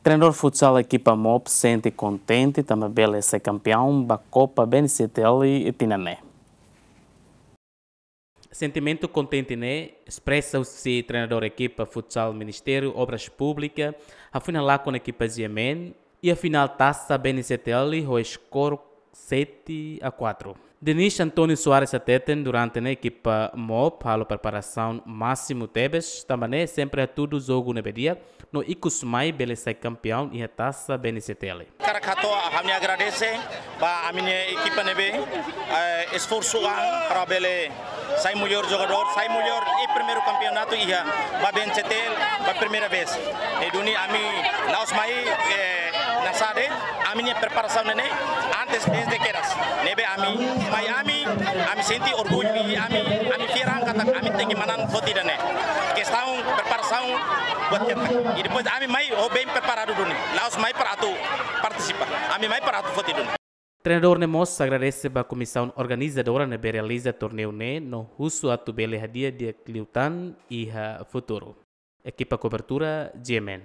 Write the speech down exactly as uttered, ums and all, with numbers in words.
Treinadór futsal ekipa MOP sente kontente tanba bele sai kampeaun ba Kopa B N C T L tinan ne'e. Sentimentu kontente ne'e espresa husi treinadór ekipa futsal Ministériu Obras Públikas, hafoin halakon ekipa G M N iha finál Tasa B N C T L ho skor sete a quatro. Denis António Soares hateten durante ne'e ekipa MOP halo preparasaun másimu tebes, tanba ne'e sempre hatudu jogu ne'ebé di'ak, no ikus mai bele sai kampeaun iha Tasa B N C T L. Hakarak hato'o ha'u-nia agradese ba ami-nia ekipa ne'ebé, eh, esforsu an para bele sai melhor jogadór, sai melhor iha primeiru kampeonatu iha ba B N C T L ba primeira vez. Ne'e duni ami la'ós mai, eh, hanesan de'it, ami-nia preparasaun ne'e antes desde kedas. Ne'ebé ami mai ami, ami sente orgullu i ami, ami fiar an katak ami tenke manán foti ida-ne'e. Kestaun preparasaun buat ketak. I depois ami mai ho bem preparadu duni. La'ós mai para atu partisipa. Ami mai para atu foti duni. Treinadór ne'e mós agradese ba komisaun organizadora ne'ebé realiza torneiu ne'e no husu atu bele hadi'a di'ak liután iha futuru. Ekipa kobertura G M N.